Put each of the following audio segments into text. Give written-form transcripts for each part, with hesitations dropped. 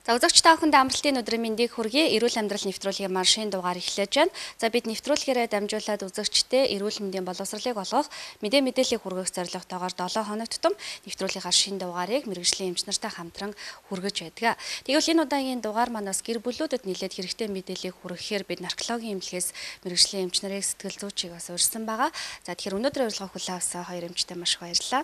За үзэгч та бүхэнд амралтын өдрийн мэндийг хүргэе. Эрүүл амьдрал нэвтрүүлгийн маршийн дугаар эхлэж байна. За бид нэвтрүүлгээрээ дамжуулаад үзэгчтэй эрүүл мэндийн боловсролыг олгох, мэдээллийг хүргэх зорилготойгоор 7 хоног тутам нэвтрүүлгийнхаа шинэ дугаарыг мэргэжлийн эмч нартай хамтран хүргэж байдаг. Тэгвэл энэ удаагийн дугаар манаас гэр бүлүүдэд нэлээд хэрэгтэй мэдээллийг хүргэхээр бид наркологийн эмнэлгээс мэргэжлийн эмч нарыг сэтгэл зүйчийг бас урьсан байгаа. За тэгэхээр өнөөдрийн урилга хүлээн авсан хоёр эмчтэй маш их баярлалаа.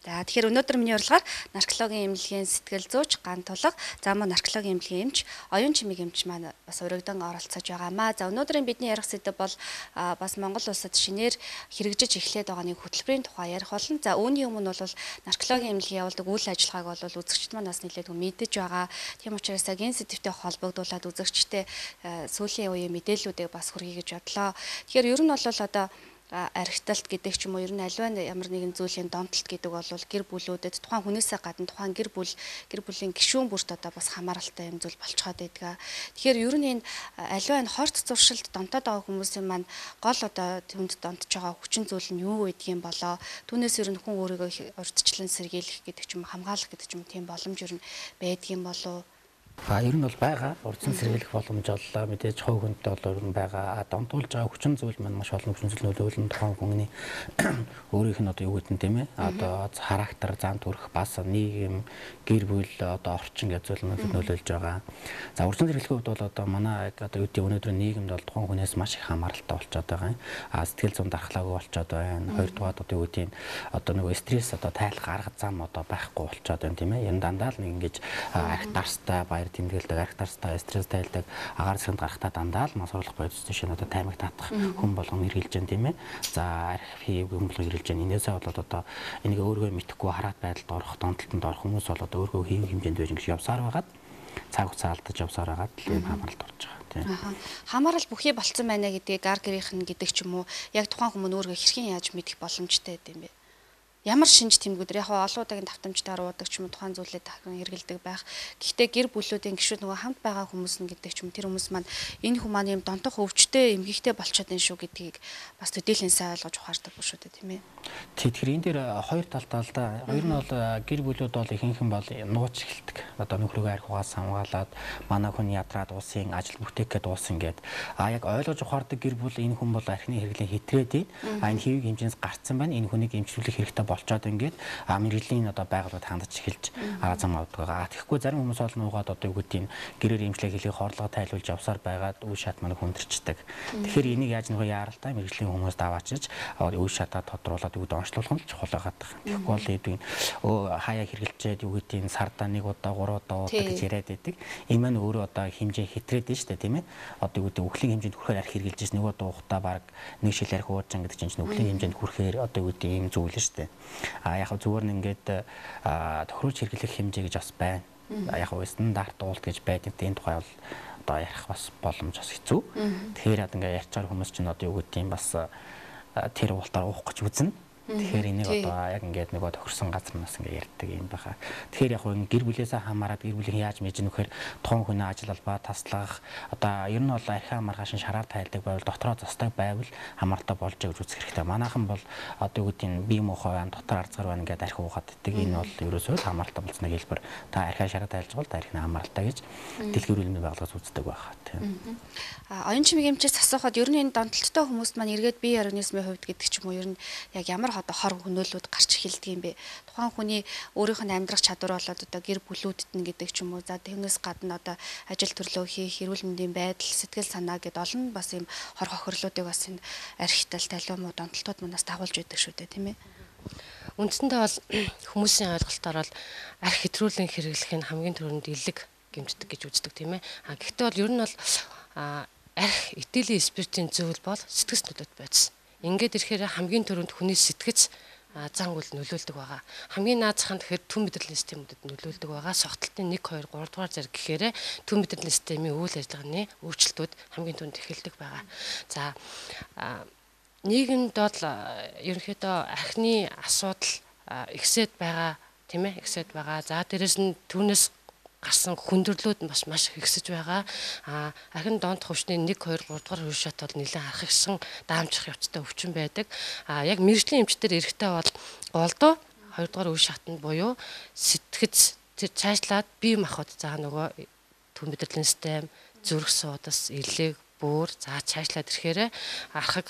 За тэгэхээр өнөөдөр миний урилгаар наркологийн эмнэлгийн сэтгэл зүйч Ган Тулга, за мөн наркологийн эмнэлгийн эмч Оюун Чимэг эмч маань бас урагдан оролцож байгаамаа. За өнөөдрийн бидний ярих сэдэв бол бас Монгол улсад шинээр хэрэгжиж эхлээд байгаа нэг хөтөлбөрийн тухай ярих болно. За үүний өмнө бол наркологийн эмнэлгийн явуулдаг үйл ажиллагааг бол үзэгчд маань бас нэлээд мэдэж байгаа. Тийм учраас энэ сэдэвтэй холбогдуулаад үзэгчтэй сүүлийн үеийн мэдээллүүдийг бас хүргэе гэж бодлоо. Тэгэхээр ер нь бол одоо архиталт гэдэг ч юм уу ер нь аливаа ямар нэгэн зүйлийн донтолт гэдэг бол гэр бүлүүдэд тухайн хүнээсээ гадна тухайн гэр бүлийн гишүүн бүрт одоо бас хамааралтай юм зүйл болцоход байдаг. Тэгэхээр ер нь энэ аливаа энэ хорт зуршилд донтоод байгаа хүмүүсийн маань гол одоо түнд донтож байгаа хүчин зүйл нь юу гэдгийг болоо түүнээс ер нь хүн өөрийгөө урьдчилан сэргийлэх гэдэг ч юм хамгаалах гэдэг ч юм тийм боломж ер нь байдгийн болов. Ер нь бол байгаа. Урдсан сэргийлэх боломж оллоо. Мэдээж хувь хүнтэй бол ер нь байгаа. Донтуулж байгаа хүчин зүйл маань маш олон хүчин зүйл нөлөөлөн тухайн хүний өөрийнх нь одоо юу гэдэг нь тийм ээ. Одоо характер, зан төрх, бас нийгэм, гэр бүл одоо орчин гэж зүйл нөлөөлж байгаа. За урдсан сэргийлэхийн хувьд бол одоо манай одоо юу гэдэг өнөөдрийн нийгэмд бол тухайн хүнээс маш их хамааралтай болчиход байгаа юм. Сэтгэл зүйн дархлаагүй болчиход байна. Хоёрдугаар одоо юу гэдэг нь одоо нөгөө стресс одоо тайлах арга зам одоо байхгүй болчиход байна тийм ээ. Ер нь дандаа л ингэж архитарстай тэмдэглэдэг, архитарстай, стресс тайлдаг, агаар сэргэнд гарахтаа дандаа л масруулах бодис тийш одоо таймыг татах хүн болгон эргэлж जैन тийм ээ. За архив хүн болгон эргэлж जैन. Инээсээ болоод одоо энийг өөргөө мэдэхгүй хараат байдалд орох, донтолтонд орох хүмүүс бол одоо өөргөө хийх хэмжээнд байж ингэж явсаар байгаад цаг хугацаа алдаж явсаар байгаад л юм хамааралд орж байгаа тийм. Хамаарал бүхий болцсон байна гэдгийг гар гэрийнх нь гэдэг ч юм уу яг тухайн хүмүүс өөргөө хэрхэн яаж мэдэх боломжтой гэдэм бэ? Ямар шинж тэмдгүүдээр яг олон удаагийн давтамжтайгаар уудаг ч юм уу тухайн зүйлээ дахин хэрэгэлдэг байх. Гэхдээ гэр бүлүүдийн гишүүд нөгөө хамт байгаа хүмүүс нь гэдэг ч юм тэр хүмүүс маань энэ хүмүүс маань юм донтох өвчтэй эмгэгтэй болчиход байна шүү гэдгийг бас төдийлэн сайн ойлгож ухаардаг биш үү тийм ээ. Тэгэхээр энэ дээр хоёр талтай л да. Хоёр нь бол гэр бүлүүд бол ихэнх нь бол нууц эхэлдэг. Одоо нөхрөөгөө архиугаас хамгаалаад манай хүн ядраад уусын ажил бүтээхэд уусан гэд. Яг ойлгож ухаардаг гэр бүл энэ хүн бол архины хэрэглээ хэтрээд энэ хэвийг хэмжээс гарцсан байна. Энэ хүнийг эмчилүүлэх хэрэгтэй болчоод ингээд мэрэгжлийн одоо байгууллагад хандаж эхэлж зам авдаг байгаа. Тэгэхгүй зарим хүмүүс бол нуугаад одоо юу гэдэг нь гэрээр эмчлэг хэлийг хорлогоо тайлуулж явсаар байгаад үе шат манайг хүндэрчдэг. Тэгэхээр энийг яаж нөгөө яаралтай мэрэгжлийн хүмүүс даваачиж үе шатаа тодруулаад юу гэдэг онцлуулах нь чухал байгаа. Тэгэхгүй бол эдгээр хаяа хэрэгэлчээд юу гэдэг нь сардаа 1 удаа 3 удаа уудаг гэж яриад байдаг. Энэ маань өөрөө одоо хэмжээ хэтрээд байна шүү дээ тийм ээ. Одоо юу гэдэг үхлийн хэмжээнд хүрэхээр арх хэрэгэлж ирсэн нэг удаа уухтаа баг нэг шил арх уурчсан гэдэг чинь үхлийн хэмжээнд хүрэхээр одоо юу гэдэг ийм зүйл шүү дээ. Яг зүгээр нь ингээд тохируулж хэрэглэх хэмжээ гэж бас байна. Яг стандарт уулт гэж байдаг. Энэ тухай бол одоо ярих бас боломж бас хэцүү. Тэгэхээр ингээд ярьж байгаа хүмүүс чинь одоо юу гэдэг юм бас тэр уултаар уух гэж үзнэ. Тэгэхээр энийг одоо яг ингээд нөгөө тохирсон газар нас ингээд ярьдаг юм байна. Тэгэхээр яг гэр бүлээсээ хамаарат гэр бүлийн яаж мэдэж нөхөр тухайн хүний ажил албаа таслах одоо ер нь бол архиа маргааш шараар тайлдаг байвал дотроо застаг байвал хамааралтай болж гэж үзэх хэрэгтэй. Манайхан бол одоо юу гэдэг нь бие муу хаваан дотор арцгаар байна ингээд архи уугаад иддэг. Энэ бол ерөөсөө л хамааралтай болсны хэлбэр. Та архиа шараар тайлж бол архины хамааралтай гэж дэлгүүр хэлний байгууллагаас үздэг байх тийм. Оюун Чимэг эмчээс асуухад ер нь энэ донтолттой хүмүүст маань эргээд бие организмын хувьд гэдэг ч юм уу ер нь яг ямар одоо хор хөнөөлүүд гарч эхэлдэг юм бэ? Тухайн хүний өөрийнх нь амьдрах чадвар болоод одоо гэр бүлүүдэд нь гэдэг ч юм уу. За түүнээс гадна одоо ажил төрлөө хийх, эрүүл мэндийн байдал, сэтгэл санаа гэд олон бас юм хор хохирлуудыг бас энэ архитал талбай муу донтолтууд манаас дагуулж байдаг шүү дээ, тийм ээ. Үндсэндээ бол хүмүүсийн ойлголтоор бол архи хэтрүүлэн хэрэглэх нь хамгийн түрүүнд элэг гэмтдэг гэж үздэг тийм ээ. Гэхдээ бол ер нь бол архи этилийн спиртийн зүйл бол сэтгэс нөлөөт байдсан. Ингээд ирэхээр хамгийн түрүүнд хүний сэтгэц зан үйл нөлөөлдөг байгаа. Хамгийн наазах нь тэгэхээр түн мэдрэлийн системүүдэд нөлөөлдөг байгаа. Согтолтын 1 2 3 дугаар зэрэг гэхээр түн мэдрэлийн системийн үйл ажиллагааны өөрчлөлтүүд хамгийн түрүүнд эхэлдэг байгаа. За нийгэмд бол ерөнхийдөө архины асуудал ихсээд байгаа тийм ээ ихсээд байгаа. За дээрэс нь түүнээс гарсан хүндрэлүүд бас маш их ихсэж байгаа. Архин донтох өвчний 1 2 3 дугаар үе шат бол нэлээд харахсан даамжих явцтай өвчин байдаг. Яг мэрэгжлийн эмчтэр эрэхтэй бол голдуу 2 дугаар үе шатнд буюу сэтгэц тэр цаашлаад бие махбод за нөгөө төв мэдрэлийн систем, зүрх судас, элэг, бүр за цаашлаад ирэхээр архаг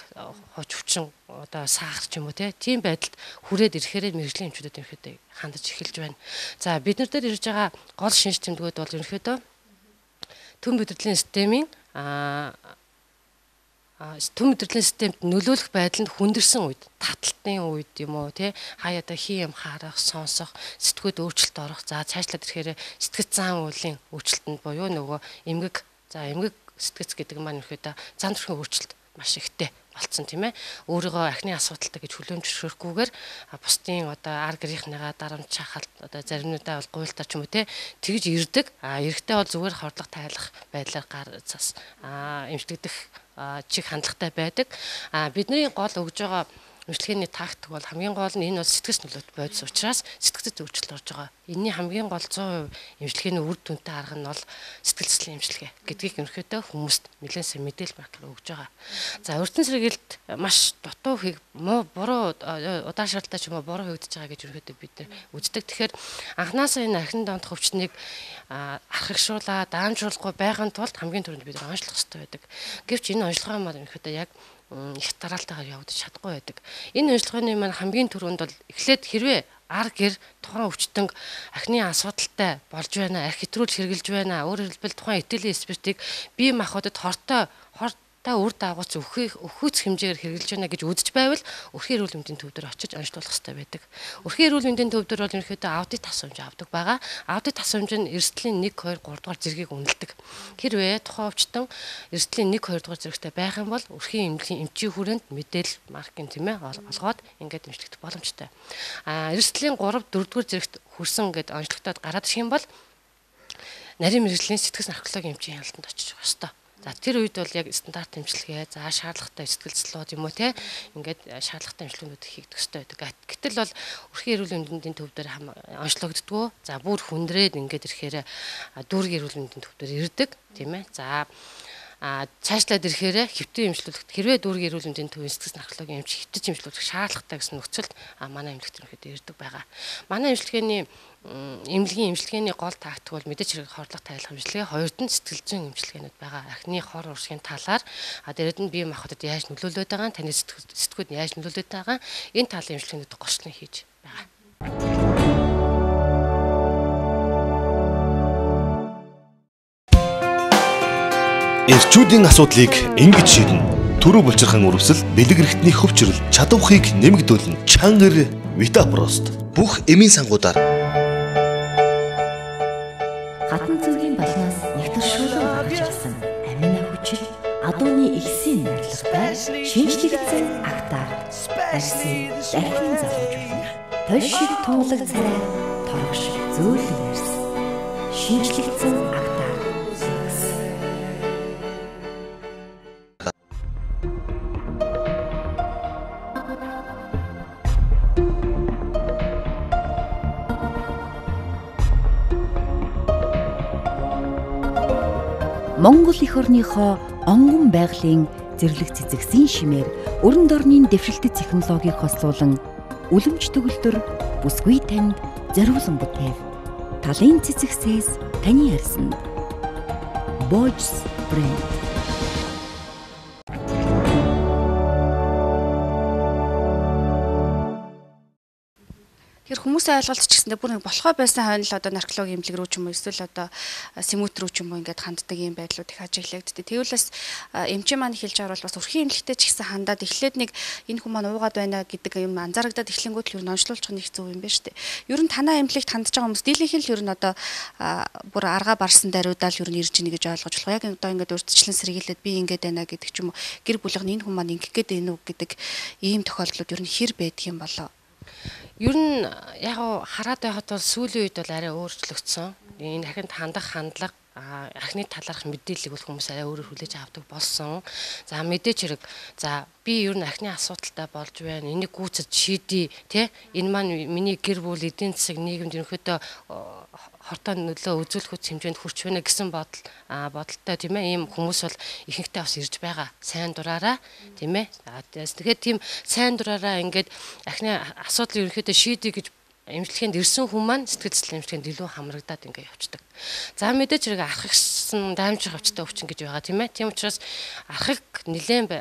хож өвчин одоо сахар ч юм уу тийм байдалд хүрээд ирэхээр мэрэгжлийн эмчүүдэд ерөнхийдөө хандаж эхэлж байна. За бид нар дээр ирж байгаа гол шинж тэмдгүүд бол ерөнхийдөө төв мэдрэлийн системийн төв мэдрэлийн системд нөлөөлөх байдал нь хүндэрсэн үед, таталтын үед юм уу хаяада хий юм харах, сонсох, сэтгүүд өөрчлөлт орох. За цаашлаад ирэхээр сэтгэц зан үйлийн өөрчлөлтөнд буюу нөгөө эмгэг сэтгэц гэдэг маань ерөөдөө зан төрхийн өөрчлөлт маш ихтэй болцсон тийм ээ. Өөрийгөө архины асуудалтай гэж хүлээн зөвшөөрөхгүйгээр бусдын одоо ар гэрийнхнийгаа дарамт шахалт одоо заримнуудаа бол гуйлтар ч юм уу тэгж ирдэг. Эрэхтэй бол зүгээр хордлого тайлах байдлаар гар цас эмчилгдэх чиг хандлагатай байдаг. Бидний гол өгж байгаа эмчилгээний тактик бол хамгийн гол нь энэ бол сэтгэц нөлөөт бодис учраас сэтгцэд өөрчлөлт орж байгаа. Энэний хамгийн гол 100% эмчилгээний үр дүнтэй арга нь бол сэтгэл зүйн эмчилгээ гэдгийг ерөнхийдөө хүмүүст нэлээд сайн мэдээлэл багтал өгж байгаа. За өртөн сэргийлт маш дутуу буруу удаашралтай ч юм уу буруу хийгдэж байгаа гэж ерөнхийдөө бид нар үздэг. Тэгэхээр анханасаа энэ архин дондох өвчнийг архагшуулаад даамжруулахгүй байхын тулд хамгийн түрүүнд бид онцлох хэрэгтэй байдаг. Гэвч энэ онцлогоо маань ерөнхийдөө яг их дараалтайгаар явагдаж чадахгүй байдаг. Энэ онцлогооны маань хамгийн түрүүнд бол эхлээд хэрвээ ар гэр тухайн өвчтөнг архины асуудалтай болж байна, арх хэтрүүл хэрглэж байна. Өөрөөр хэлбэл тухайн этэлийн спиртийг бие махбодод хортой үр дагавц өхөөц хэмжээгээр хэрглэж байна гэж үзэж байвал өрхийн эрүүл мэндийн төв дээр очиж онцлуулах хэрэгтэй байдаг. Өрхийн эрүүл мэндийн төв дээр бол ерөнхийдөө аудит тасамж авдаг байгаа. Аудит тасамж нь эрсдлийн 1, 2, 3 дугаар зэргийг үнэлдэг. Хэрвээ тухайн өвчтөн эрсдлийн 1, 2 дугаар зэрэгтэй байх юм бол өрхийн эмчийн хүрээнд мэдээлэл маркийн олгоод ингээд эмчлэгдэх боломжтой. Эрсдлийн 3, 4 дугаар зэрэгт хүрсэн гэд онцлогдоод гараад ирэх юм бол нарийн мэрэгжлийн сэтгэл наркологийн эмчийн хяналтанд очиж байгаа ёстой. За тэр үед бол яг стандарт эмчилгээ, за шаардлагатай сэтгэл зүйн юм уу ингээд шаардлагатай эмчилгээнүүд хийгдэх хэрэгтэй байдаг. Гэтэл бол өрхийн эрүүл мэндийн төв дээр онцлогддгоо. За бүр хүндрээд ингээд ирэхээр дүүргийн эрүүл мэндийн төв дээр ирдэг тийм ээ. За цаашлаад ирэхээр хэвтэн эмчилүүлэхэд хэрвээ дүүргийн эрүүл мэндийн төвийн сэтгэл наркологийн эмч хэвтэж эмчилүүлэх шаардлагатай гэсэн нөхцөлд манай эмнэлэгт ерөнхийдөө ирдэг байгаа. Манай эмнэлгийн эмчилгээний гол тактик бол мэдээж хэрэг хордлого тайлах эмчилгээ, хоёрд нь сэтгэл зүйн эмчилгээнүүд байгаа. Архины хор урсгийн талаар дээрэд нь бие махбодод яаж нөлөөлөд байгаа, таны сэтгүүд яаж нөлөөлөд байгаа энэ талын эмчилгээнүүд гочлон хийж байгаа. Эрчүүдийн асуудлыг ингэж шийднэ. Төрөө булчирхан үрвсэл, бэлэг эрхтний хөвчрөл, чадвархийг нэмэгдүүлнэ. Чангар Витапрост. Бүх эмийн сангуудаар хатан цэврийн балнаас нэвтэршүүлэн гарч ирсэн амина хүчил адууны ихсийн нарлагтай шинжлэгдсэн актаар барьсан дахин залуужуулна. Тош шиг тунгалаг царай торгош зөөлөн ярьсан шинжлэгдсэн актаар Монгол эх орныхоо онгон байгалийн зэрлэг цэцэгсийн шимээр өрн дорны дэвшилтэт технологиг хослуулан үлэмж төгөлдөр бүсгүй танд зориулсан бүтээл. Талын цэцэгсээс таны арьсанд Bosch брэнд. Тэгэхээр хүмүүсийн ойлголт ч гэсэндээ бүр нэг болохоо байсан хойно л одоо наркологийн эмнэлэг рүү ч юм уу эсвэл одоо сэмүүт рүү ч юм уу ингээд ханддаг юм байдлууд их ажиглагддаг. Тэгвэл бас эмчийн маань хэлж байгаа бол бас өрхийн эмнэлэгтэй ч гэсэн хандаад эхлээд нэг энэ хүмүүс маань уугаад байна гэдэг юм анзаарагдаад эхлэнгүүт л юу ноншлуулчих нь их зөв юм байна шүү дээ. Ер нь танаа эмнэлэгт хандж байгаа хүмүүс дийлэнх нь л ер нь одоо бүр аргаа барсан даруйдаал ер нь ирж ийн гэж ойлгож болох. Яг одоо ингээд урьдчилан сэргийлээд би ингээд байна гэдэг ч юм уу гэр бүлийнх нь энэ хүмүүс маань ингэх гээд байна уу гэдэг ийм тохиолдлууд ер нь хэр байдаг юм болоо. Ер нь яг хараад байхад бол сүүлийн үед бол арай өөрчлөгдсөн. Энэ дахин хандах хандлага архины талаарх мэдээллийг бол хүмүүс арай өөрөөр хүлээж авдаг болсон. За мэдээч хэрэг за би ер нь архины асуудалтай болж байна. Энийг гүйцэд шийдье тий. Энэ маань миний гэр бүл эдийн засаг нийгэмд ерөнхийдөө хортой нөлөө үзүүлэх хүч хэмжээнд хүрч байна гэсэн бодолтой тийм ээ. Ийм хүмүүс бол ихэнхдээ бас ирж байгаа. Сайн дураараа тийм ээ. Тэгэхээр тийм сайн дураараа ингээд архины асуудлыг ерөнхийдөө шийдье гэж эмчилгээнд ирсэн хүн маань сэтгэл зүйн эмчилгээнд илүү хамрагдаад ингээ явцдаг. За мэдээж хэрэг архагсан даймжих хавцтай өвчин гэж байгаа тийм ээ. Тийм учраас архагсан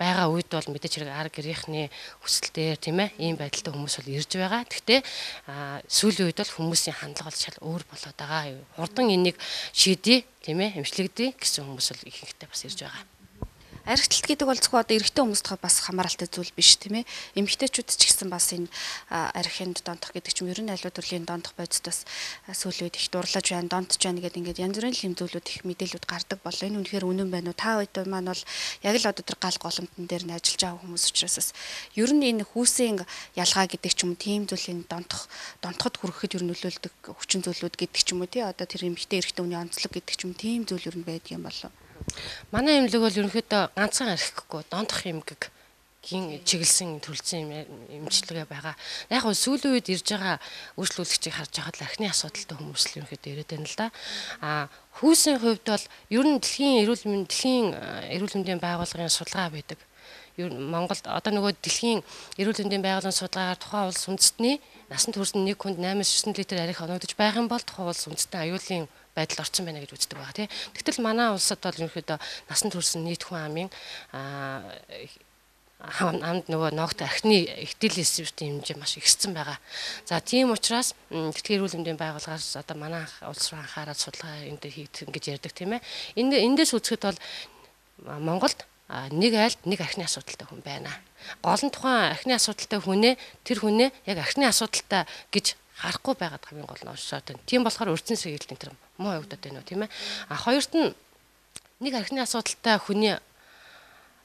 байгаа үед бол мэдээж хэрэг ар гэрийнхний хүсэлтээр тийм ээ ийм байдалтай хүмүүс бол ирж байгаа. Гэхдээ сүүлийн үед бол хүмүүсийн хандлага бол шал өөр болоод байгаа. Хурдан энийг шийдье тийм ээ эмчилэгдээ гэсэн хүмүүс бол ихэнхдээ бас ирж байгаа. Архиталт гэдэг бол зөвхөн одоо эрэгтэй хүмүүст бас хамааралтай зүйл биш тийм ээ. Эмэгтэйчүүд ч гэсэн бас энэ архинд донтох гэдэг чинь ер нь аливаа төрлийн донтох бодис бас сүүлийн үед их дурлаж байна, донтож байна гэдэг ингээд янз бүрийн хэм зүйлүүд их мэдээлүүд гардаг болоо. Энэ үнэхээр үнэн байна уу? Та хэд маань бол яг л одоо тэр гал голомтон дээр нь ажиллаж байгаа хүмүүс учраас ер нь энэ хүүсийн ялгаа гэдэг ч юм уу тийм зүйлийн донтоход хүрэхэд ер нь нөлөөлдөг хүчин зүйлүүд гэдэг ч юм уу тий одоо тэр эмэгтэй эрэгтэй хүний онцлог гэдэг ч юм тийм зүйл ер нь байдаг юм болоо. Манай эмнэлэг бол ерөнхийдөө ганцхан архихгүй донтох эмгэг гин чиглэсэн төрөлцсөн эмчилгээ байгаа. Яг нь сүүлийн үед ирж байгаа үйлчлүүлэгчийг харж байхад архины асуудалтай хүмүүс л ерөнхийдөө ирээд байна л да. Хүүсийн хувьд бол ер нь дэлхийн эрүүл мэндийн байгууллагын судалгаа байдаг. Монголд одоо нөгөө дэлхийн эрүүл мэндийн байгууллагын судалгаагаар тухайн улс үндэстний насанд хүрсэн нэг хүнд 8-9 литр арх оногдож байгаа юм бол тухайн улс үндэстний аюулын байдал орсон байна гэж үздэг байгаа тийм. Тэгтэл манай улсад бол ерөнхийдөө насанд хүрсэн нийт хүн амын амд нөгөө ногт архины ихтгэл эсвэртийн хэмжээ маш ихссэн байгаа. За тийм учраас дэлхийн эрүүл мэндийн байгууллагаас одоо манай улс руу анхаарал судалгаа энэ дээр хийгдэх гэж ярьдаг тийм ээ. Эндээс үзэхэд бол Монголд нэг айлд нэг архины асуудалтай хүн байна. Гол нь тухайн архины асуудалтай тэр хүнээ яг архины асуудалтай гэж харахгүй байгаад хамгийн гол нь оршоод байна. Тийм болохоор урьдчилан сэргийлэлт энэ муу явагдаад байна уу тийм ээ. Хоёрт нь нэг архины асуудалтай хүний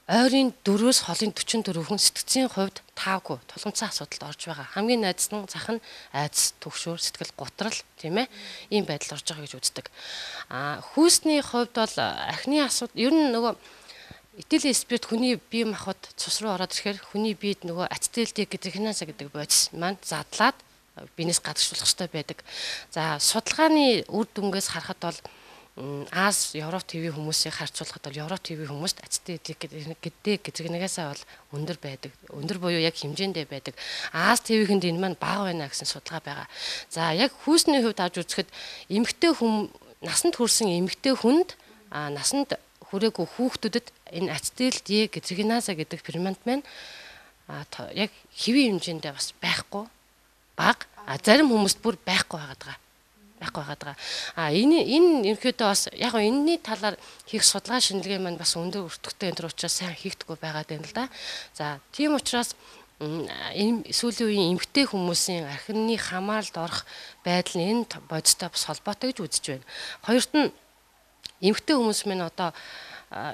ойрын 4-өөс холын 44 хүн сэтгцийн хувьд таавгүй тулгымцсан асуудалд орж байгаа. Хамгийн найдсан зах нь айдас, түгшүүр, сэтгэл готрал тийм ээ. Ийм байдал орж байгаа гэж үздэг. Хүүсний хувьд бол архины асуудал ер нь нөгөө этилийн спирт хүний бие махбод цус руу ороод ирэхээр хүний биед нөгөө ацетилдик гидрогеназа гэдэг бодис маань задлаад биенээс гадагшуулах хэрэгтэй байдаг. За судалгааны үр дүнгээс харахад бол Аз Европ ТV хүмүүсийг харьцуулахад бол Европ ТV хүмүүст ацетилдик гидрогеназа бол өндөр байдаг. Өндөр буюу яг хэмжээндээ байдаг. Аз ТV-хэнд энэ маань бага байна гэсэн судалгаа байгаа. За яг хүүсний хувьд авч үзэхэд насанд хүрсэн эмэгтэй хүнд насанд хүрээгүй хүүхдүүдэд энэ ацетилдик гидрогеназа гэдэг фермент маань яг хэвийн хэмжээндээ бас байхгүй бага. Зарим хүмүүст бүр байхгүй байгаа. Энэ ерөнхийдөө бас яг энэний талаар хийх судалгаа шинжилгээ маань бас өндөр өртөгтэй энэ учраас сайн хийгдэггүй байгаад байна л да. За тийм учраас сүүлийн үеийн эмэгтэй хүмүүсийн архины хамааралд орох байдал нь энэ бодистой бас холбоотой гэж үзэж байна. Хоёрт нь эмэгтэй хүмүүс минь одоо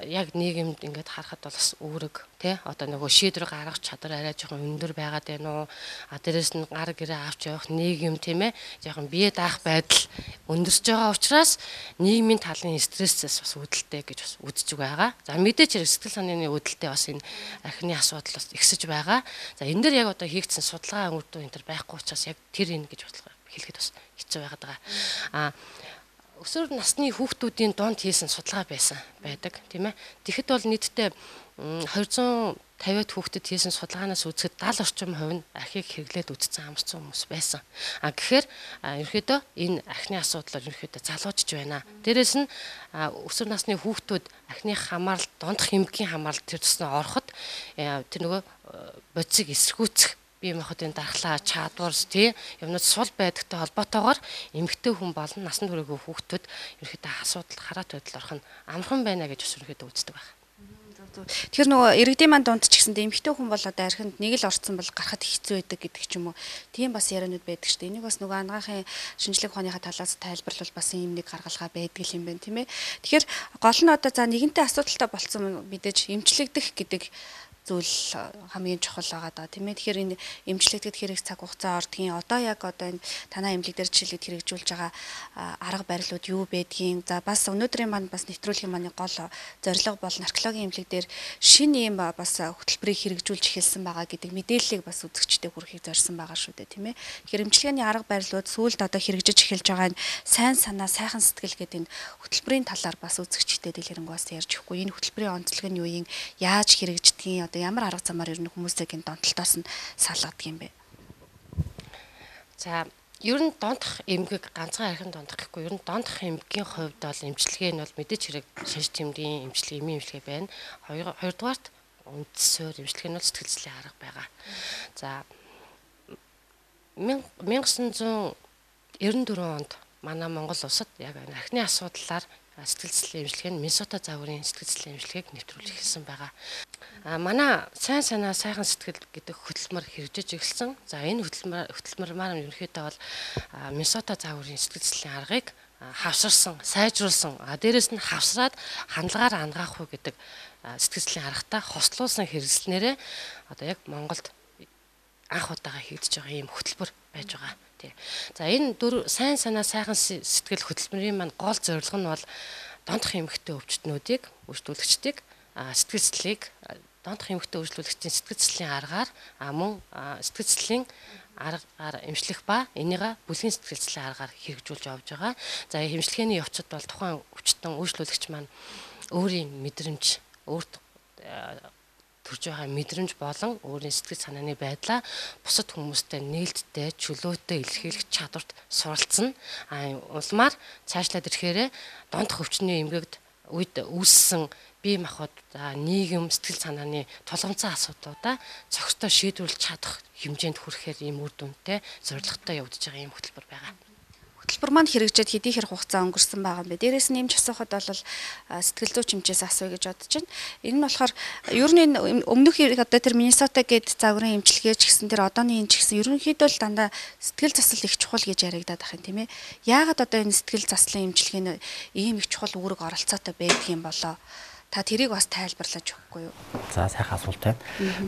яг нийгэмд ингээд харахад бол бас үүрэг тий одоо нөгөө шийдвэр гаргах чадвар арай жоохон өндөр байгаад байна уу дээрэс нь гар гэрээ авч явах нийгэм тийм ээ жоохон бие даах байдал өндөрч байгаа учраас нийгмийн талын стрессээс бас үүдэлтэй гэж бас үзэж байгаа. За мэдээч хэрэг сэтгэл санааны үүдэлтэй бас энэ архины асуудал бас ихсэж байгаа. За энэ дээр яг одоо хийгдсэн судалгаа үр дүн энэ төр байхгүй учраас яг тэр энэ гэж хэлэхэд бас хэцүү байгаад байгаа. Өсвөр насны хүүхдүүдийн донд хийсэн судалгаа байдаг тийм ээ. Тэгэхэд бол нийтдээ 250-д хүүхдэд хийсэн судалгаанаас үзэхэд 70 орчим хувь нь архийг хэрэглээд үзсэн амарсан хүмүүс байсан. Гэхээр ерөөдөө энэ архины асуудал ерөөдөө залуужж байна. Дээрээс нь өсвөр насны хүүхдүүд архины хамааралд дондох эмгэгийн хамааралд тэр туснаа ороход тэр нөгөө бодисыг эсэргүүцэх бие махбодын дархлаа, чадварс тий юмнууд сул байдагтай холбоотойгоор эмэгтэй хүн болон насанд хүрээгүй хүүхдүүд ерөөхдөө асуудал хараат байдал орох нь амархан байна гэж бас ерөөхдөө үздэг байна. Тэгэхээр нөгөө иргэдийн манд дунд ч гэсэндээ эмэгтэй хүн бол одоо архинд нэг л орцсон бол гарахад хэцүү байдаг гэдэг ч юм уу. Тийм бас яриануд байдаг шүү дээ. Энийг бас нөгөө анагаахын шинжлэх ухааныхаа талаас тайлбарлал бас ийм нэг гаргалгаа байдаг юм байна тийм ээ. Тэгэхээр гол нь одоо за нэгэнтээ асуудалтай болцсон мэдээж эмчлэгдэх гэдэг зүйл хамгийн чухал байгаа даа тийм ээ. Тэгэхээр энэ эмчлэгдэхэд хэрэг цаг хугацаа ордгийн одоо яг одоо энэ танаа эмнэлэг дээр жишээлбэл хэрэгжүүлж байгаа арга барилууд юу байдгийг за бас өнөөдрийн манд бас нэвтрүүлгийн маань гол зорилго бол наркологийн эмнэлэг дээр шинэ юм бас хөтөлбөрийг хэрэгжүүлж эхэлсэн байгаа гэдэг мэдээллийг бас үзэгчдэд хүргэхийг зорьсон байгаа шүү дээ тийм ээ. Тэгэхээр эмчилгээний арга барилууд сүүлд одоо хэрэгжиж эхэлж байгаа энэ сайн санаа сайхан сэтгэл гэдэг энэ хөтөлбөрийн талаар бас үзэгчдэд дэлгэрэнгүй ярьж өгөхгүй. Энэ хөтөлбөрийн онцлог нь юу юм яаж хэрэгждгийг ямар арга замаар ер нь хүмүүсийг энэ донтолтоос нь салгадаг юм бэ? За ер нь дондох эмгэг ганцхан архин дондох гэхгүй, ер нь дондох эмгэгийн хувьд бол эмчилгээ нь бол мэдээж хэрэг шинж тэмдгийн эмчилгээ, эмийн эмчилгээ байна. Хоёрдугаарт үндсээр эмчилгээ нь бол сэтгэл зүйн арга байгаа. За 1994 онд манай Монгол улсад яг архины асуудлаар сэтгэл зүйн эмчилгээ нь Миннесота загварын сэтгэл зүйн эмчилгээг нэвтрүүлж эхэлсэн байгаа. Манай сайн санаа сайхан сэтгэл гэдэг хөтөлмөр хэрэгжиж эхэлсэн. За энэ хөтөлмөр маань ерөнхийдөө бол Миннесота загварын сэтгэл зүйн аргыг хавсарсан, сайжруулсан. Дээрээс нь хавсраад хандлагаар ангаах уу гэдэг сэтгэл зүйн аргатай хослуулсан хэрэгслэнээрээ одоо яг Монголд анх удаага хийгдэж байгаа ийм хөтөлбөр байж байгаа. За энэ сайн санаа сайхан сэтгэл хөтөлбөрийн маань гол зорилго нь бол дондох эмэгтэй өвчтнүүдийг үйлчлүүлэгчдийг сэтгэл зүйн дондох эмэгтэй үйлчлүүлэгчдийн сэтгэл зүйн аргаар мөн сэтгэл зүйн аргаар эмчлэх ба энийгээ бүлгийн сэтгэл зүйн аргаар хэрэгжүүлж явж байгаа. За эмчилгээний явцад бол тухайн өвчтөн үйлчлүүлэгч маань өөрийн мэдрэмж, өөрт төрж байгаа мэдрэмж болон өөрийн сэтгэл санааны байдлаа бусад хүмүүстэй нээлттэй, чөлөөтэй илэрхийлэх чадварт суралцсан. Улмаар цаашлаад ирэхээр дондох өвчний эмгэгд үед үүссэн бие махбод нийгэм сэтгэл санааны тулгымцсан асуудлуудаа цогцтой шийдвэрлэж чадах хэмжээнд хүрэхээр ийм үр дүнтэй зорилготой явагдаж байгаа ийм хөтөлбөр байгаа. Хөтөлбөр маань хэрэгжээд хэдий хэр хугацаа өнгөрсөн байгаа юм бэ? Дээрээс нь эмч асуухад бол сэтгэл зүйч хэмжээс асууя гэж бодож байна. Энэ нь болохоор ер нь өмнөх одоо тэр Миннесота гээд загварын эмчилгээ ч гэсэн тэр одооны энэ ч гэсэн ерөнхийдөө л дандаа сэтгэл засал их чухал гэж яригадаад байгаа юм тийм ээ. Яагаад одоо энэ сэтгэл заслын эмчилгээ нь ийм их чухал үүрэг оролцоотой байдаг юм болоо? Та тэрийг бас тайлбарлаж өгөхгүй юу? За сайхан асуулт байна.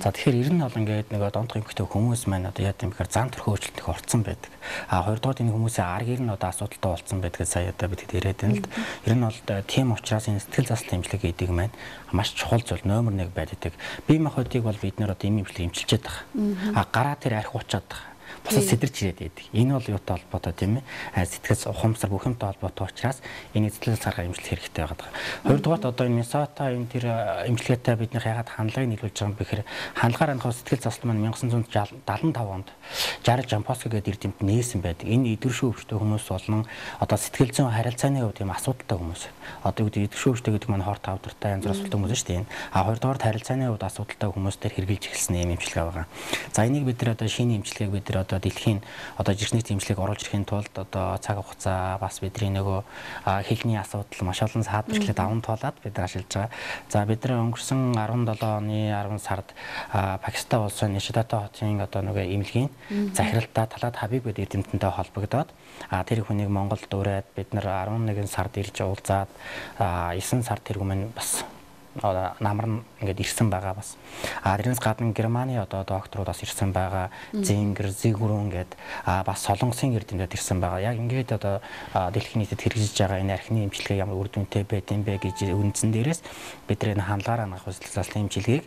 За тэгэхээр ер нь бол ингээд нэг дондох эмэгтэй хүмүүс маань одоо яа гэм бэхээр зан төрхөө өөрчлөлтөнд орцсон байдаг. Хоёрдугаар энэ хүмүүсийн аргыг нь одоо асуудалтай болсон байдгийг сая одоо бид яриад байна л да. Ер нь бол тийм учраас энэ сэтгэл заслын эмчилгээ гэдэг маань маш чухал зүйл номер 1 байдаг. Бие махбодыг бол бид нэр одоо ийм эмчилгээ эмчилж байгаа. Гараа тэр арх уучаад байгаа. Бусад сэтэрч ирээд байдаг. Энэ бол юутай холбоотой тийм ээ? Сэтгэл ухамсар бүх юмтай холбоотой учраас энэ сэтгэл сарга эмчилэх хэрэгтэй байгаа. Хоёрдугаар одоо энэ Миннесота энэ тэр эмчилгээтэй бидний ягаад хандлагыг нийлүүлж байгаа юм бэ гэхээр хандлагаар анхаа сэтгэл засал маань 1975 онд 60 Жампоско гэдэг эрдэмтэд нээсэн байдаг. Энэ идэршүү өвчтөй хүмүүс болон одоо сэтгэл зүйн харилцааны хувьд тийм асуудалтай хүмүүс. Одоо юу гэдэг идэршүү өвчтөй гэдэг маань хорт тавдартай янз бүр асуудалтай хүмүүс шүү дээ. Хоёрдугаар харилцааны хувьд асуудалтай хүмүүстээр хэрэгжилж эхэлсэн юм эмчилгээ байгаа. За энийг бид нар одоо шинэ эмчилгээг бид нар одоо дэлхийн одоо жиргэнийт эмчилгээг оруулж ирэхийн тулд одоо цаг хугацаа бас бидний нөгөө хэлний асуудал маш олон саадчлалд даван туулаад бид нар ашиглаж байгаа. За бид нар өнгөрсөн 17 оны 10 сард Пакистан улсын Нишатата хотын одоо нөгөө эмнэлгийн захиралтай Талат Хабиб гэдэг эрдэмтэнтэй холбогдоод тэр хүнийг Монголд ураад бид нар 11 сард ирж уулзаад 9 сард тэр хүмүүс бас намар ингээд ирсэн байгаа бас. Тэрнээс гадна Германы одоо докторууд бас ирсэн байгаа. Зингер, Зигүрэн гээд бас солонгосын эрдэмтэд ирсэн байгаа. Яг ингээд одоо дэлхийн нийтэд хэрэгжиж байгаа энэ архины эмчилгээ ямар үр дүнтэй байд юм бэ гэж үндсэн дээрээс бид энэ хандлагаар хангах сэтгэл заслын эмчилгээг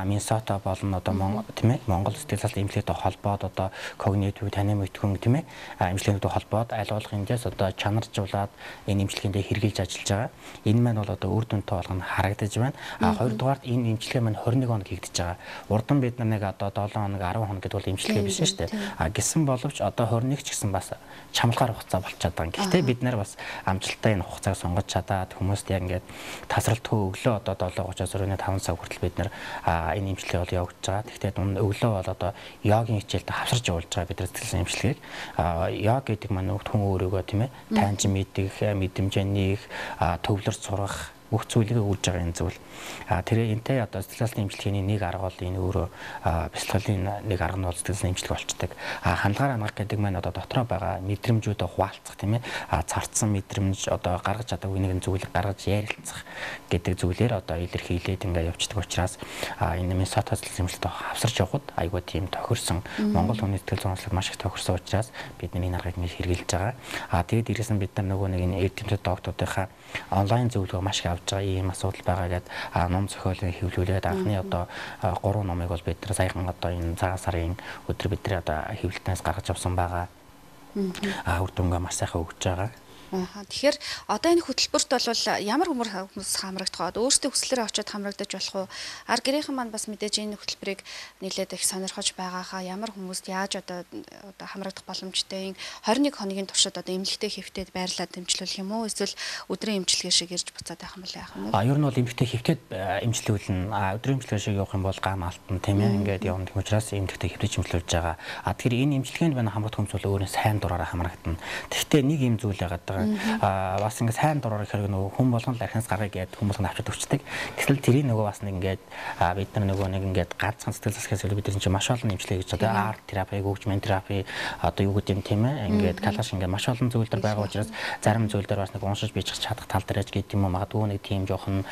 Миннесота болон одоо тийм ээ Монгол сэтгэл заслын эмчилгээтэй холбоод одоо когнитив танин мэдхүн тийм ээ эмчилгээтэй холбоод аль болох эндээс одоо чанаржуулаад энэ эмчилгээндээ хэрэгжилж ажиллаж байгаа. Энэ маань бол одоо үр дүнтэй болгоно харагдаж байна. Хоёрдугаарт энэ эмчилгээ маань 21 хоног хийгдэж байгаа. Урдан бид нар нэг одоо 7 хоног 10 хоног гэдэг бол эмчилгээ биш шүү дээ. Гэсэн боловч одоо 21 ч гэсэн бас чамлахаар хугацаа болчиход байгаа. Гэхдээ бид нар бас амжилттай энэ хугацааг сонгож чадаад хүмүүст яг ингээд тасралтгүй өглөө одоо 7:30-аас өрөөний 5 цаг хүртэл бид нар энэ эмчилгээ бол явуулж байгаа. Гэхдээ өглөө бол одоо йогийн хичээлд хавсарч явуулж байгаа бид нар сэтгэл эмчилгээг. Йог гэдэг маань хүн өөрөөгөө тийм ээ таньж мэдэх, мэдрэмжээ нээх, төвлөрч сурах бүх зүйлийг үүрж байгаа энэ зүйл. Тэр энтэй одоо сэтгэл заслын эмчилгээний нэг арга бол энэ өөрөө бясалгалын нэг арга нь бол сэтгэл заслын эмчилгээ болчдаг. Хандлагаар хангах гэдэг маань одоо дотроо байгаа мэдрэмжүүдээ хуваалцах тийм ээ. Царцсан мэдрэмж одоо гаргаж чадаагүй нэгэн зүйлийг гаргаж ярилцах гэдэг зүйлээр одоо илэрхийлээд ингээд явцдаг учраас энэ Миннесота сэтгэл эмчилгээтэй хавсарч явхад айгүй тийм тохирсон Монгол хүний сэтгэл зүйн онцлог маш их тохирсон учраас бид энэ аргыг ингээд хэрэгжилж байгаа. Тэгээд дээрээс нь бид нар нөгөө нэг энэ эрдэмтэд докторуудынхаа онлайн зөвлөгөө маш их авч байгаа ийм асуудал байгаа гэдэг ном зохиолыг хэвлүүлээд анхны одоо 3 номыг бол бид нар саяхан одоо энэ цагаан сарын өдөр бид нар одоо хэвлэлтнээс гаргаж авсан байгаа. Үр дүнгээ маш сайхан өгч байгаа. Тэгэхээр одоо энэ хөтөлбөрт бол ямар хүмүүс хамрагдах вэ? Өөрсдөө хүслээрээ очиод хамрагдаж болох уу? Ар гэрийнхэн маань бас мэдээж энэ хөтөлбөрийг нэлээд их сонирхож байгаахаа ямар хүмүүст яаж одоо хамрагдах боломжтой энэ 21 хоногийн туршид одоо эмнэлэгтэй хэвтээд байрлаад дэмжлүүлэх юм уу? Эсвэл өдрийн эмчилгээ шиг ирж буцаад байх юм бол яах юм бэ? Ер нь бол эмнэлэгтэй хэвтээд эмчлүүлнэ. Өдрийн эмчилгээ шиг явах юм бол гам алтан тийм ээ. Ингээд явна гэх учраас эмнэлэгтэй хэвтэж эмчлүүлж байгаа. Тэгэхээр энэ эмчилгээнд байна хамрагдах хүмүүс бол өөрөө сайн дураараа хамрагдана. Гэхдээ нэг юм зүйл яагаад бас ингээд сайн дураар хэрэг нөгөө хүн болгон л архинаас гаргая гэдэг хүмүүс нь авчид өчтдөг. Гэтэл тэрийг нөгөө бас нэг ингээд бид нар нөгөө нэг ингээд ганцхан сэтгэл засгаас бид нар чинь маш олон эмчилгээ гэж одоо арт терапи, хөгжмийн терапи одоо юу гэдэг юм тийм ээ. Ингээд калаш ингээд маш олон зүйлдер байгаа учраас зарим зүйлдер бас нэг уншиж бичих чадах тал дээр гэж гэдэг юм уу. Магадгүй нэг тийм жоохон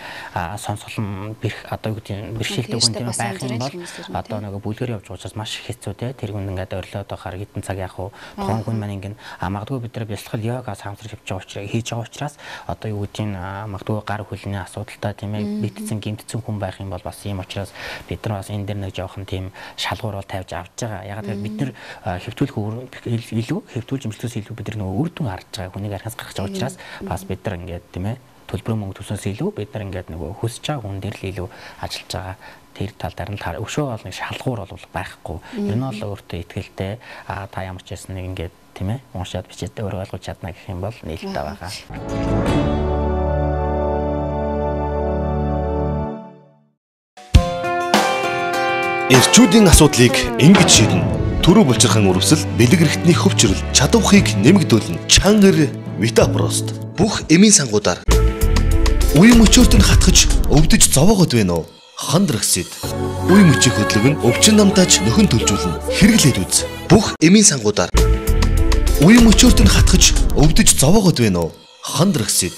сонсголон бэрх одоо юу гэдэг юм бэрхшээлтэй хүн тийм байх юм бол одоо нөгөө бүлгээр явж байгаа учраас маш хэцүү те. Тэр хүн ингээд орилоод байхаар хэдэн цаг яах вэ? Тухайн хүн маань ингээд магадгүй бид нар бясалгал йога самсрах хийж байгаа учраас одоо юу гэдгийг магадгүй гар хөлний асуудалтай тийм ээ битцэн гимтцэн хүн байх юм бол бас ийм учраас бид нар бас энэ дээр нэг жоохон тийм шалгуур бол тавьж авч байгаа. Ягаад гэвэл бид нар хэвтүүлэх илүү хэвтүүлж имжлэхээс илүү бид нар нөгөө үр дүн харж байгаа хүнийг архиас гаргаж байгаа учраас бас бид нар ингээд тийм ээ төлбөрийн мөнгө төснөөс илүү бид нар ингээд нөгөө хүсэж байгаа хүн дээр л илүү ажиллаж байгаа. Тэр тал дээр нь өшөө бол нэг шалгуур бол байхгүй. Ер нь бол өөртөө ихтэй та ямар ч байсан нэг ингээд тийм ээ уншаад бичээд өөрөө ойлгож чадна гэх юм бол нээлттэй байгаа. Эрчүүдийн асуудлыг ингэж шийднэ. Төрөө булчирхан үрвсэл, бэлэг эрхтний хөвчрөл, чадвархыг нэмэгдүүлнэ. Чангар Витапрост. Бүх эмийн сангуудаар үе мөчөөт нь хатгаж өвдөж зовоогод байна уу? Хандрагсид. Үе мөчийн хөдлөг нь өвчин намтаж нөхөн төлжүүлнэ. Хэрэглээд үз. Бүх эмийн сангуудаар үе мөчөөт нь хатгаж өвдөж зовоогод байна уу? Хандрагсид.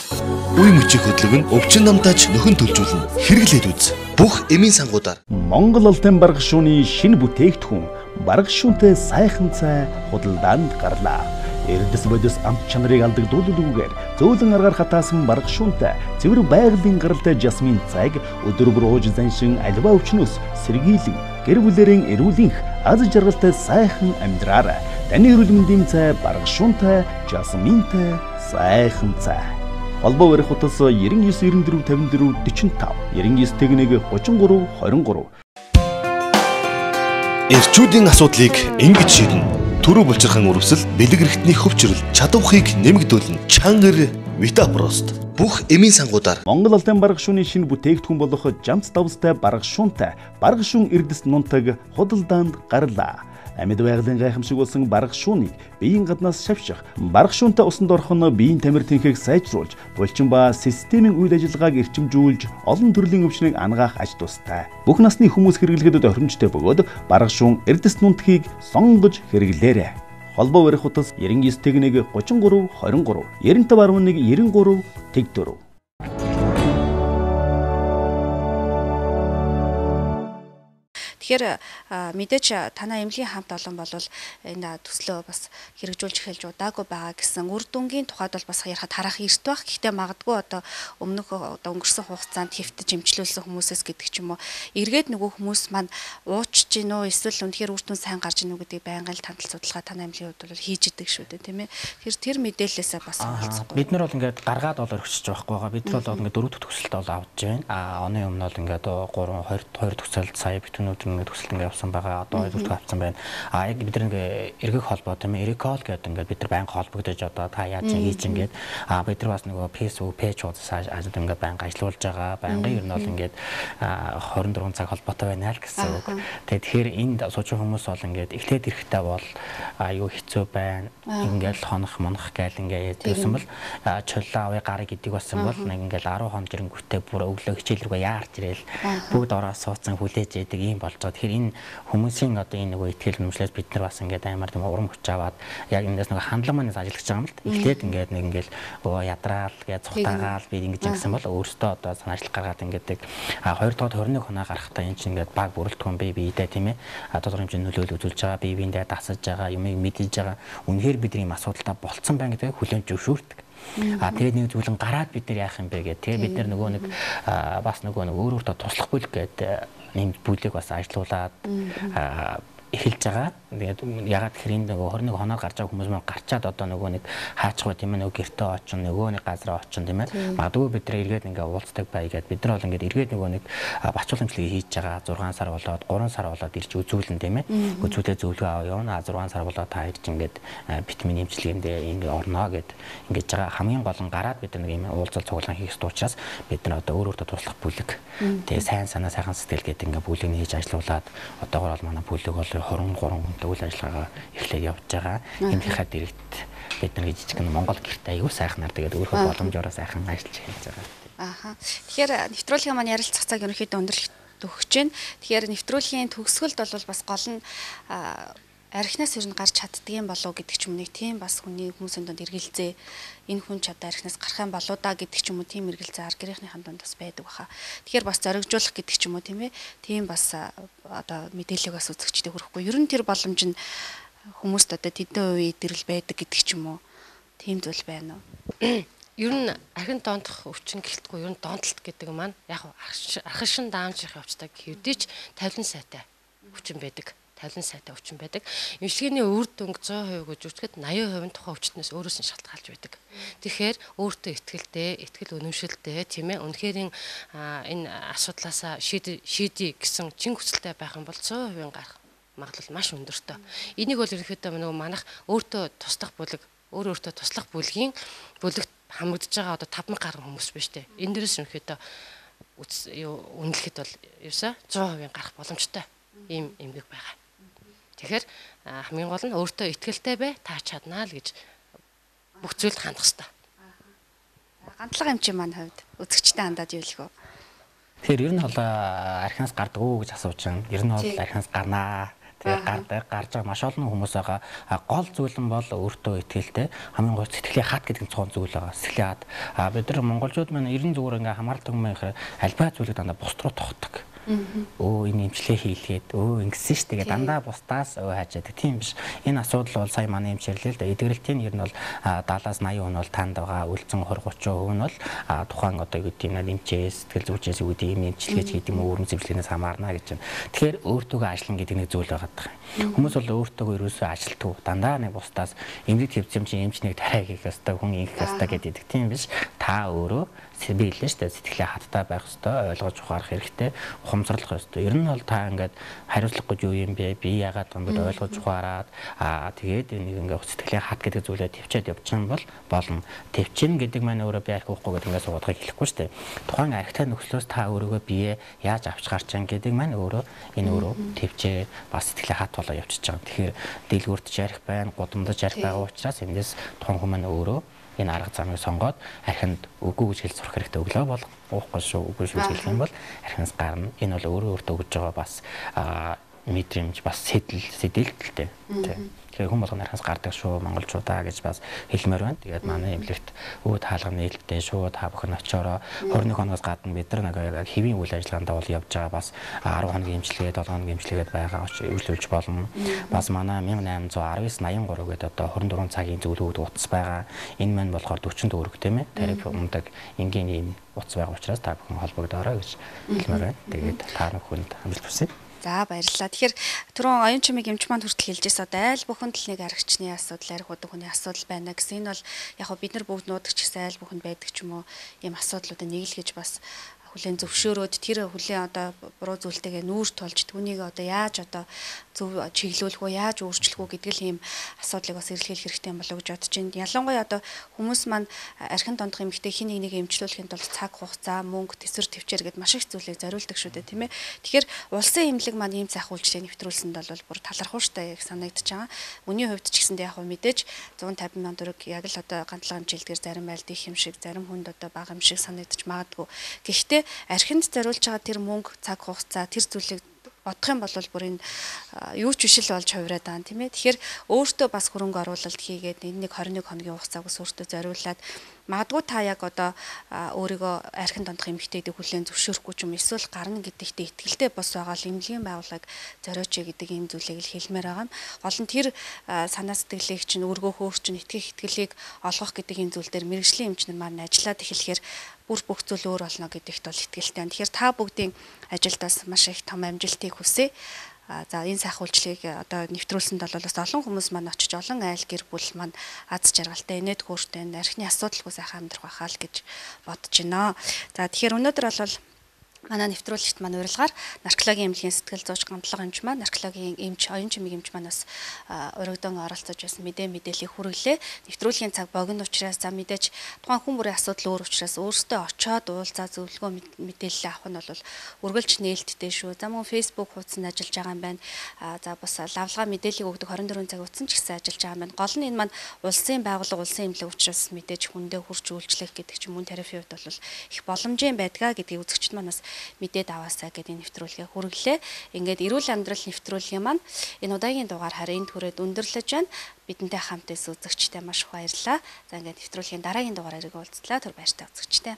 Үе мөчийн хөдлөг нь өвчин намтаж нөхөн төлжүүлнэ. Хэрэглээд үз. Бүх эмийн сангуудаар Монгол Улсын бараг шууны шинэ бүтээгдэхүүн бараг шүүнтэй сайхан цай худалдаанд гарлаа. Эрдэс бодис амт чанарыг алдагдуулалгүйгээр зөөлөн аргаар хатаасан бараг шүүнтэй цэвэр байгалийн гаралтай жасмин цайг өдөр бүр ууж заншин альва өвчнөөс сэргийлэн гэр бүлэрийн эрүүлэнх аз жаргалтай сайхан амьдраарай. Таны эрүүл мэндийн цай бараг шүүнтэй жасминтэй сайхан цай. Холбоо барих утас 99 94 54 45 99 тэгнэг 33 23. Эрчүүдийн асуудлыг ингэж шийднэ. Төрөө булчирхан үрвсэл, бэлэг эрхтний хөвчрөл, чадвархыг нэмэгдүүлнэ. Чангар Витапрост. Бүх эмийн сангуудаар Монгол Улсын бараг шууны шинэ бүтээгдэхүүн болох жамц давстай бараг шуунтай бараг шуун эрдэс нунтаг худалдаанд гарлаа. Амьд байгалийн гайхамшиг болсон бараг шуунийг биеийн гаднаас шавших, бараг шуунтай усанд орох нь биеийн тамир тэнхийг сайжруулж, булчин ба системийн үйл ажиллагааг эрчимжүүлж, олон төрлийн өвчнийг ангаах аж тустай. Бүх насны хүмүүс хэрэглэхэд тохиромжтой бөгөөд бараг шуун эрдэс нунтгийг сонгож хэрэглээрэй. Холбоо барих утас 99 тэгнэг 33 23 95.1 93 тэгдөрөв. Тэгэхээр мэдээж танай эмнэлгийн хамт олон бол энэ төслөө бас хэрэгжүүлж эхэлж удаагүй байгаа гэсэн үр дүнгийн тухайд бол бас ярихад харах эрт байх. Гэхдээ магадгүй одоо өмнөх одоо өнгөрсөн хугацаанд хэвтэж эмчлүүлсэн хүмүүсээс гэдэг ч юм уу эргээд нөгөө хүмүүс маань уучж гин үү эсвэл үнэхээр үр дүн сайн гарч гин үү гэдгийг байнга л тантал судалгаа танай эмнэлгийн хувьд бол хийж идэг шүү дээ тийм ээ. Тэгэхээр тэр мэдээлэлээсээ бас олцохгүй. Бид нар бол ингээд гаргаад бол өргөсөж байхгүй байгаа. Бид нар бол ингээд 4 төгсөлт бол авч байна. Оны өмнө бол ингээд 2 төгсөлт сая битүүнүүд ингээд төсөлт ингээд явсан байгаа. Одоо 2 төгсөлт авсан байна. Яг бид нар ингээд эргэх холбоо тийм ээ. Эрикол гэдэг ингээд бид нар байнга холбогдож одоо та яаж хийж ингээд бид нар бас нөгөө Facebook пэйж уудаас ажил ингээд байнга ажиллаулж байгаа. Байнга ер нь бол ингээд 24 цаг холбоотой байна л гэсэн үг. Тэгэхээр энд суучин хүмүүс бол ингээд эхлээд эрэхтэй бол аюу хэцүү байна. Ингээд хонох монох гээл ингээд ярьсан бол чулаа авъя гарыг гэдэг болсон бол нэг ингээд 10 хон жирэнгүүтээ бүр өглөө хичээл рүүгээ яарч ирэл бүгд ороо суудсан хүлээж яадаг юм болж байгаа. Тэгэхээр энэ хүмүүсийн одоо энэ нөгөө ихтгэл үнэмшлээс бид нар бас ингээд аймаар тийм урам хүч аваад яг эндээс нөгөө хандлага манаас ажиллаж байгаа юм л. Эхлээд ингээд нэг ингээд ядраал гэж цухтаагаал би ингэж ингэсэн бол өөртөө одоо санаачлах гаргаад ингээд 2 дахь 21 хоноо гарахтаа энэ чинь ингээд баг бүрэлдэхүүн биедээ тийм ээ тодорхой хэмжээний нөлөөлөл үзүүлж байгаа биедээ дасаж байгаа юмыг мэдэж байгаа. Үнэхээр бидний юм асуудалтай болцсон байна гэдэг хүлээн зөвшөөрдөг. Тэгээд нэг зүйлэн гараад бид нар яах юм бэ гэдэг. Тэгээд бид нар нөгөө нэг бас нөгөө өөрөөртөө туслах бүлэг гэдэг нэм бүлэг бас ажилуулад эхэлж байгаа. Тэгээд ягаад гэхээр энэ нөгөө 21 хоноор гарч байгаа хүмүүс маань гарчаад одоо нөгөө нэг хаачих бай тийм ээ нөгөө гэртээ очин нөгөө нэг газараа очин тийм ээ. Магадгүй бид нар эргээд ингээ уулздаг бай гэдэг бид нар бол ингээ эргээд нөгөө нэг бачууламжлалыг хийж байгаа 6 сар болоод 3 сар болоод ирж үзүүлэн тийм ээ. Үзүүлээ зөвлөгөө аваа явна 6 сар болоод та ирж ингээд витамин эмчилгээндээ ингээ орно гэд ингэж байгаа. Хамгийн гол нь гараад бид нэг юм уулзал цуглаан хийх ёстой учраас бид нар одоо өөрөөрөө туслах бүлэг тэгээ сайн санаа сайхан сэтгэл гэдэг ингээ бүлэг нь хийж ажилуулад одоогоор бол манай бүлэг бол 23 хүнтэй үйл ажиллагаа эхлээд явж байгаа. Энийхээ дэрэгт бид нар жижиг нь Монгол гэрт аягүй сайхнаар тэгээд өөрөө боломжоор сайхан ажиллаж хийж байгаа. Ааха. Тэгэхээр нэвтрүүлгийн маань ярилцах цаг ерөнхийдөө өндөрлөлт өгч байна. Тэгэхээр нэвтрүүлгийн төгсгөлд бол бас гол нь архинаас ер нь гарч чаддгийн болов гэдэг ч юм нэг тийм бас хүний хүмүүсийн донд эргэлзээ энэ хүн ч одоо архинаас гарах юм болоо да гэдэг ч юм уу тийм эргэлзээ ар гэрийнхнийхэн донд бас байдаг баха. Тэгэхээр бас зоригжуулах гэдэг ч юм уу тийм ээ. Тийм бас одоо мэдээлэл бас үзэгчдэд хүрэхгүй. Ер нь тэр боломж нь хүмүүст одоо тэдэн үе идэрэл байдаг гэдэг ч юм уу. Тийм зүйл байна уу? Ер нь архин доондох өвчин гэлтгүй ер нь доондолт гэдэг маань яг архишин даамжих явцдаг хэвдэж 50 сайтай өвчин байдаг. 50 сайтай өвчин байдаг. Эмчилгээний үр дүнг 100% гэж үзэхэд 80% тухайн өвчтнөөс өөрөөс нь шалтгаалж байдаг. Тэгэхээр өөртөө итгэл үнэмшилтэй тийм ээ. Үнэхээр энэ асуудлаасаа шийдий гэсэн чин хүсэлтэй байх юм бол 100% гарах магадлал маш өндөртэй. Энийг бол ерөнхийдөө нөгөө манайх өөртөө туслах бүлэгт бүлэгт хамрагдж байгаа одоо 5000 гаруй хүмүүс байна шүү дээ. Энэ дээрээс ерөнхийдөө үнэлэхэд бол ерөөсөө 100% гарах боломжтой ийм эмгэг байгаа. Тэгэхээр хамгийн гол нь өөртөө итгэлтэй бай, та чаднаа л гэж бүх зүйлд хандах хэрэгтэй. Гантлага эмчийн маань хувьд үзэгчтэй хандаад юу лэх вэ? Тэгэхээр ер нь бол архинаас гардаг уу гэж асууж байгаа. Ер нь бол архинаас гарнаа. Тэгээд гарч байгаа маш олон хүмүүс байгаа. Гол зүйл нь бол өөртөө итгэлтэй. Хамгийн гол сэтгэлийн хат гэдэг цоон зүйл байгаа. Сэтгэлийн хат. Бид нар монголчууд маань ер нь зүгээр ингээ хамаардаг юм байхаар альбаа зүйлийг дандаа бус руу тогтдог. Өө энэ эмчилгээ хийлгээд ингэсэн ш тэгээ дандаа бусдаас хайчаад тийм биш. Энэ асуудал бол сая манай эмчирлээ л да. Эдгэрэлтийн ер нь бол 70-80% нь бол танд байгаа. Үлдсэн 20-30% нь бол тухайн одоо юу гэдэг юм эмчээс сэтгэл зүйчээс юу гэдэг юм эмчилгээч гэдэг юм өөрөм зөвлөгөөнөөс хамаарна гэж байна. Тэгэхээр өөртөөгөө ажиллана гэдэг нэг зүйл байгаа. Хүмүүс бол өөртөөгөө ерөөсөө ажилтгүй дандаа нэг бусдаас эмнэлэг хэвцэм чинь эмч нэг тарай хийх ёстой хүн ингэх ёстой гэдэг тийм биш. Та өөрөө би хэллээ шүү дээ сэтгэлийн хаттай байх ёстой, ойлгож ухаарах хэрэгтэй, ухамсарлах ёстой. Ер нь бол та ингээд хариуцлагагүй юу юм бэ? Би яагаад юм бэ ойлгож ухаарад тэгээд нэг ингээд сэтгэлийн хат гэдэг зүйлээ төвчээд явчих юм бол болно. Төвчин гэдэг маань өөрөө би арх уухгүй гэдэг ингээд суудгыг хэлэхгүй шүү дээ. Тухайн архтай нөхцлөөс та өөрийгөө бие яаж авч гарч чам гэдэг маань өөрөө энэ өөрөө төвчээ бас сэтгэлийн хат болоо явчихж байгаа. Тэгэхээр дэлгүүрт жарих байна, гудамдаж жарих байгаа учраас эндээс тухайн хүмүүс маань өөрөө энэ арга замыг сонгоод архинд үгүй гэж хэл сурах хэрэгтэй өглөө бол уухгүй шүү үгүй шүү гэж хэлэх юм бол архинаас гарна. Энэ бол өөртөө өгж байгаа бас мэдрэмж бас сэдэлтэлтэй. Тэгэхээр хүн болгоны архинаас гардаг шүү монголчуудаа гэж бас хэлмээр байна. Тэгээд манай эмнэлэгт үүд хаалганы нээлттэй шүү та бүхэн очиороо 21 хоноос гадна бид нар нэг хэвийн үйл ажиллагаанд бол явж байгаа бас 10 хоногийн эмчилгээ 7 хоногийн эмчилгээд байгаа үйлчлүүлж болно. Бас манай 1819-83 гэдэг одоо 24 цагийн зөвлөгөөд утас байгаа. Энэ маань болохоор 40 төгрөг тийм ээ. Тариф ундаг энгийн ийм утас байгаа учраас та бүхэн холбогдоорой гэж хэлмээр байна. Тэгээд та бүхэнд амжилт хүсье. За баярлалаа. Тэгэхээр түрүүн оюун чимиг эмч маань хүртэл хэлжээс одоо аль бүхэнд л нэг аригчны асуудал, арх удаг хүний асуудал байна гэсэн. Энэ бол яг бид нар бүгд нуудаг ч гэсэн аль бүхэнд байдаг ч юм уу ийм асуудлуудыг нэг л гэж бас хүлэн зөвшөөрөөд тэр хүлэн одоо буруу зүйлтэйгээ нүүр тулж түүнийг одоо яаж одоо зөв чиглүүлэх үү, яаж өөрчлөх үү гэдэг л ийм асуудлыг бас эрэлхийлэх хэрэгтэй юм болов уу гэж бодож байна. Ялангуяа одоо хүмүүс маань архин дондох эмэгтэй хин нэг эмчлүүлэхэд бол цаг хугацаа, мөнгө, тэсвэр төвчээр гэдээ маш их зүйлийг зориулдаг шүү дээ, тийм ээ. Тэгэхээр улсын эмнэлэг маань ийм зах үйлчлэгийг нэвтрүүлсэнд бол бүр талархууштай яг санагдаж байгаа. Үний хувьд ч гэсэндээ яг мэдээж 150 мянган төгрөг яг л одоо гандлага хэмжээлдгээр зарим айлд их юм шиг, зарим хүнд одоо бага юм шиг санагдаж магадгүй. Гэхдээ архинд зориулж байгаа тэр мөнгө, цаг хугацаа, тэр зүйлийг бодох юм бол бүр энэ юу ч биш л болж хувираад байгаа юм тийм ээ. Тэгэхээр өөртөө бас хөрөнгө оруулалт хийгээд энэ нэг 21 хоногийн хугацааг ус өөртөө зориулаад магадгүй та яг одоо өөрийгөө архин дондох эмэгтэйдийг хүлээн зөвшөөрөхгүй ч юм эсвэл гарна гэдэгтээ итгэлтэй бос байгаа л эмнэлгийн байгууллага зориоч гэдэг ийм зүйлийг л хэлмээр байгаа юм. Гол нь тэр санаа сэтгэлийг чинь өргөөх өөр чинь итгэх итгэлийг олгох гэдэг энэ зүйл дээр мэрэгжлийн эмч нар маань ажиллаад эхлэхээр бүр бүх зүйл өөр болно гэдэгт бол итгэлтэй байна. Тэгэхээр та бүгдийн ажилд бас маш их том амжилтыг хүсье. За энэ сайхан үйлчлэгийг одоо нэвтрүүлсэнд бол бас олон хүмүүс маань очиж олон айл гэр бүл маань аз жаргалтай, инээд хөөртэй, архины асуудалгүй сайхан амьдрах байхаа л гэж бодож байна. За тэгэхээр өнөөдөр бол манай нэвтрүүлэгт маань урилгаар наркологийн эмнэлгийн сэтгэл зүйч гамтлага эмч маань, наркологийн эмч, оюун чимийн эмч маань бас өргөдөн оролцож байсан мэдээллийг хүргэлээ. Нэвтрүүлгийн цаг богино учраас за мэдээж тухайн хүн бүрийн асуудал өөр учраас өөрсдөө очиод уулзаа зөвлөгөө мэдээлэл авах нь бол үргэлж нээлттэй шүү. За мөн Facebook хуудсанд ажиллаж байгаа юм байна. За бас лавлгаа мэдээллийг өгдөг 24 цаг утсан ч гэсэн ажиллаж байгаа юм байна. Гол нь энэ маань улсын байгууллага, улсын эмнэлэг учраас мэдээж хүндээ хурж үйлчлэх гэдэг ч юм уу терапийн хувьд бол их боломжийн байдгаа гэдгийг үзэгчд манаас мэдээд аваасаа гэдэг нэвтрүүлгээ хүргэлээ. Ингээд эрүүл амьдрал нэвтрүүлгийн маань энэ удаагийн дугаар харин түрээд өндөрлөж байна. Бидэнтэй хамт байсан үзэгчтэй маш их баярлалаа. За ингээд нэвтрүүлгийн дараагийн дугаарыг уулзлаа. Түр баяртай үзэгчтэй.